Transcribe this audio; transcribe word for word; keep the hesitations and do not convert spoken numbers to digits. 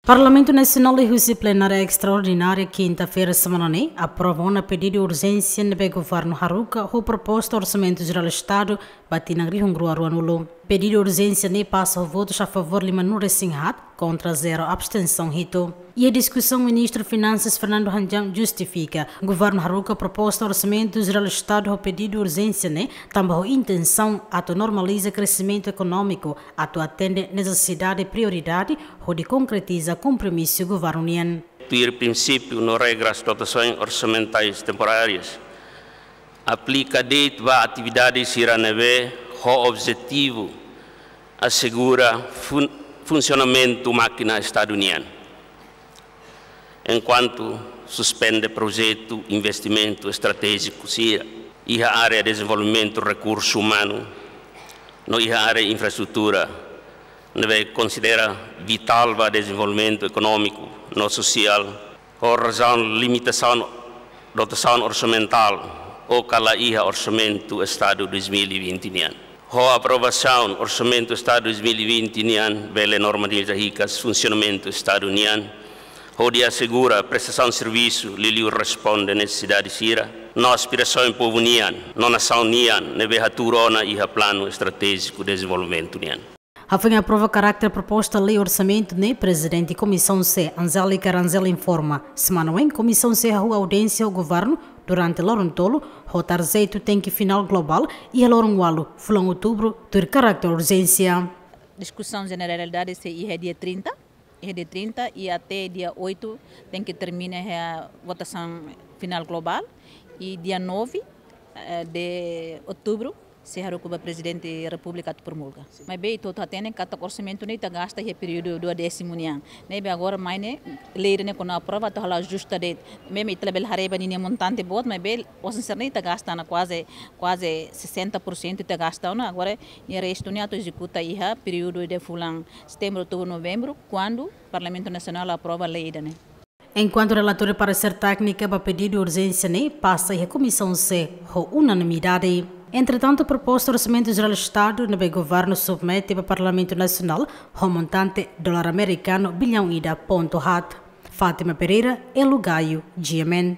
Parlamentu Nasionál liuhusi plenária estraordinária kinta-feira semana ne'e aprova ona pedidu urjénsia ne'ebé governu haruka ho proposta Orsamentu Jerál Estadu ba tinan rihun rua ruanulu. Pedidu urjénsia ne'e pasa ho votus a favór limanulu resin haat, kontra zero, abstensaun hitu. Iha diskusaun, Ministru Finansas Fernando Hanjang justifika governu haruka proposta Orsamentu Jerál Estadu ho pedidu urjénsia ne'e tanba ho intensaun atu normaliza kresimentu ekonómiku, atu atende nesesidade prioridade hodi konkretiza kompromisu governu nian. Tuir prinsípiu no regras dotasaun orsamentais temporárias, aplika de'it ba atividade sira ne'ebé ho objetivu asegura fun-, funsionamentu mákina Estadu nian. Enkuantu suspende projetu investimentu estratéjiku sira iha área dezenvolvimentu rekursu umanu no iha área infraestrutura, ne'ebé konsidera vitál ba dezenvolvimentu ekonómiku no sosiál, ho razaun limitasaun dotasaun orsamentál ou ka la iha Orsamentu Estadu dois mil e vinte nian. Ho aprovasaun Orsamentu Estadu dois mil e vinte nian, bele normaliza hikas funsionamentu Estadu nian, hodi asegura prestasaun servisu liuliu responde nesesidade sira no aspirasaun povu nian no nasaun nian ne'ebé hatuur ona iha Planu Estratéjiku Dezenvolvimentu nian. Hafoin aprova karáter proposta lei orsamentu ne'e, Prezidente Komisaun C, Angélica Rangel, informa, semana oin Komisaun C hahú audiénsia ho governu durante loron tolu, ho tarjetu tenke finál globál iha loron ualu fulan Outubru, tuir karáter urjénsia. Diskusaun jeneralidade sei iha dia trinta, iha dia trinta, i até dia oito tenke termina iha votasaun finál globál, i dia nove, eh, de Outubru sei haruka ba Prezidente Repúblika atu promulga. Maibé ita hotu hatene katak orsamentu ne'e ita gasta iha períodu duodésimu nian. Ne'ebé agora mai ne'e, lei ne'e kuandu aprova atu halo ajusta de'it. Maibé ita labele haree ba ninia montante boot, maibé osan sira-ne'e ita gasta ona kuaze, kuaze sessenta por cento ita gasta ona. Agora, nia restu ne'e atu ezekuta iha períodu de fulan Setembru, Outubru, Novembru, kuandu Parlamentu Nasionál aprova lei ida-ne'e. Enkuantu relatóriu paresér téknika ba pedidu urjénsia ne'e pasa iha Komisaun C ho unanimidade. Entretantu, proposta Orsamentu Jerál Estadu ne'ebé governu submete ba Parlamentu Nasionál ho montante dolar amerikanu bilhaun ida pontu haat. Fátima Pereira, Elo Gaio, G M N.